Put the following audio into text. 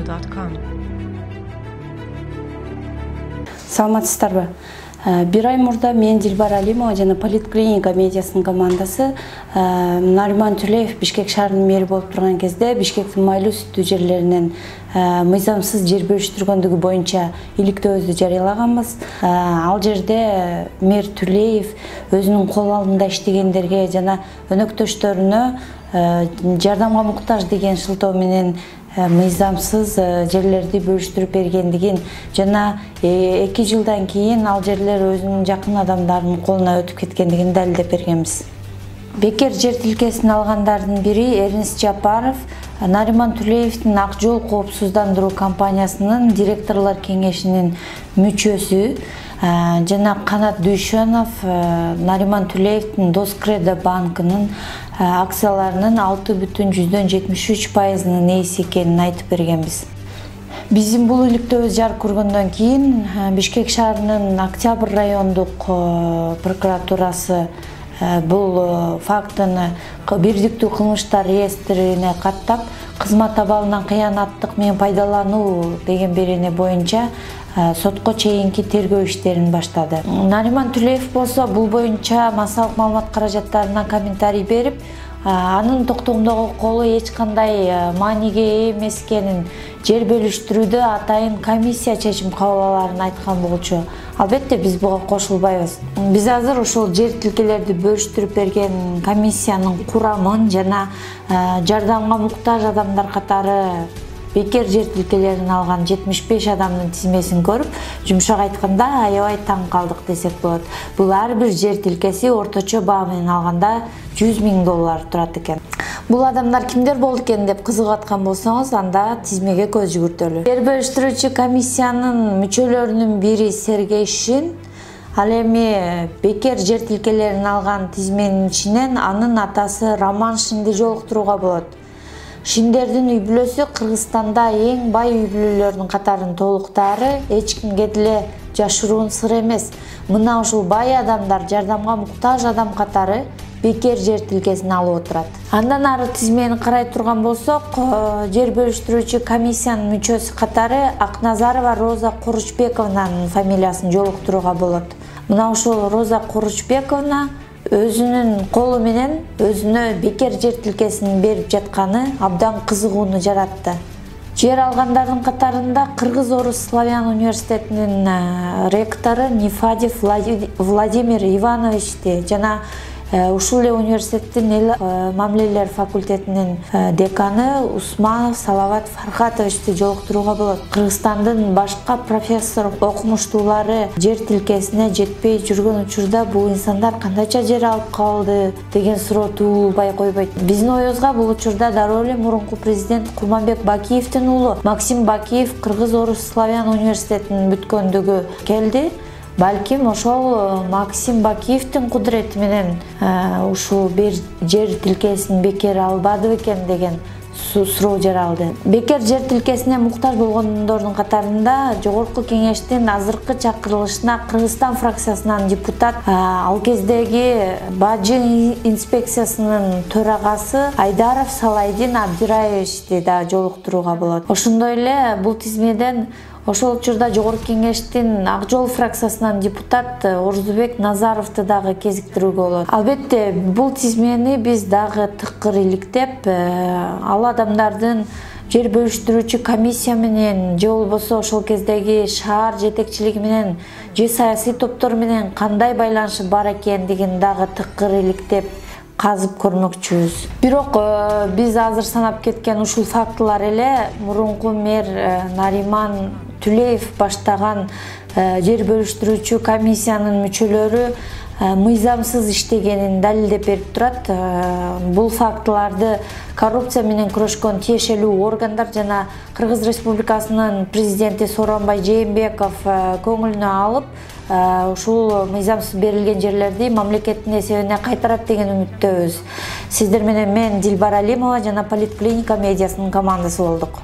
politiklinikamediasi.com. Саламатсыздарбы? Бир ай мурда мен Дилбар Алимова жана Политклиника медиасынын командасы Нариман Түлеев Бишкек шаарынын мэри болуп турган кезде Бишкектин майлуу сүттүү жерлеринен мыйзамсыз жер бөлүштүргөндүгү боюнча иликтөөбүздү жарыялаганбыз. Ал жерде мэр Түлеев өзүнүн кол алдында иштегендерге жана өнөктөштөрүнө жардамга муктаж деген шылтоо менен мыйзамсыз жерлерди бөлүштүрүп бергендигин жана 2 жылдан кийин ал жерлер өзүнүн жакын адамдарынын колуна өтүп кеткендигин далилдеп бергенбиз. Бекер жер тилкесин алгандардын бири Эрнис Жапаров, Нариман Түлеевдин Ак жол коопсуздандыруу компаниясынын директорлор кеңешинин мүчөсү жана Канат Дүйшөнов Нариман Түлеевдин Доскредо банкынын акцияларынын 6,73%-нын ээси экенин айтып бергенбиз. Биздин бул иликтөөбүз жарык көргөндөн кийин Бишкек шаарынын Октябрь райондук прокуратурасы бул фактыны бирдиктүү кылмыштар реестрине каттап, кызмат абалынан кыянаттык менен пайдалануу деген берене боюнча сотко чейинки тергөө иштерин баштады. Нариман Түлеев болсо бул боюнча массалык маалымат каражаттарына комментарий берип, анын токтомдогу колу эч кандай мааниге ээ эмес экенин, жер бөлүштүрүүдө атайын комиссия чечим кабыл аларын айткан болчу. Албетте биз буга кошулбайбыз. Биз азыр ушул жер тилкелерди бөлүштүрүп берген комиссиянын курамын жана жардамга муктаж адамдар катары бекер жер тилкелерин алган 75 адамдын тизмесин көрүп, жумшак айтканда аябай таң калдык десек болот. Бул ар бир жер тилкеси орточо баа менен алганда $100,000 турат экен. Бул адамдар кимдер болду экен деп кызыгып аткан болсоңуз, анда тизмеге көз жүгүртөлү. Жер бөлүштүрүүчү комиссиянын мүчөлөрүнүн бири Сергей Шин, ал эми бекер жер тилкелерин алган тизменин ичинен анын атасы Роман Шинди жолуктурууга болот. Шиндердин үй бүлөсү Кыргызстанда эң бай үй бүлөлөрдүн катарын толуктаары эч кимге деле жашыруун сыр эмес. Мына ушул бай адамдар жардамга муктаж адам катары бекер жер тилкесин алып отурат. Андан ары тизмени карай турган болсок, жер бөлүштүрүүчү комиссиянын мүчөсү катары Акназарова Роза Куручбековнанын фамилиясын жолуктурууга болот. Мына ушул Роза Куручбековна өзүнүн колу менен өзүнө бекер жер тилкесин берип жатканы абдан кызыгууну жаратты. Жер алгандардын катарында Кыргыз-Орус Славян университетинин ректору Нефадев Владимир Ивановичти жана ушул эле университеттин эл мамилелер факультетинин деканы Усманов Салават Фархатовичти жолуктурууга болот. Кыргызстандын башка профессор окумуштуулары жер тилкесине жетпей жүргөн учурда бул инсандар кандайча жер алып калды деген суроо туулбай койбойт. Биздин оюбузга бул учурда дароо эле мурунку президент Курманбек Бакиевдин уулу Максим Бакиев Кыргыз-Орус Славян университетин бүткөндүгү келди. Балким ошол Максим Бакиевдин кудурети менен ушул жер тилкесин бекер албады экен деген суроо жаралды. Бекер жер тилкесине муктаж болгондордун катарында Жогорку кеңештин азыркы чакырылышына Кыргызстан фракциясынан депутат, ал кездеги Бажы инспекциясынын төрагасы Айдаров Салайдин Абдираевичти да жолуктурууга болот. Ошондой эле бул тизмеден ошол учурда Жогорку кеңештин Ак жол фракциясынан депутат Орзубек Назаровду дагы кезиктирүүгө болот. Албетте, бул тизмени биз дагы тыкыр иликтеп, ал адамдардын жер бөлүштүрүүчү комиссия менен же болбосо ошол кездеги шаар жетекчилиги менен же саясий топтор менен кандай байланышы бар экендигин дагы тыкыр иликтеп казып көрмөкчүбүз. Бирок биз азыр санап кеткен ушул фактылар эле мурунку мэр Нариман Түлеев баштаган жер бөлүштүрүүчү комиссиянын мүчөлөрү мыйзамсыз иштегенин далилдеп берип турат. Бул фактыларды коррупция менен күрөшкөн тиешелүү органдар жана Кыргыз Республикасынын президенти Сооронбай Жээнбеков көңүлүнө алып, ушул мыйзамсыз берилген жерлерди мамлекеттин эсебине кайтарат деген үмүттөбүз. Сиздер менен мен Дилбар Алимова жана Политклиника медиасынын командасы болдук.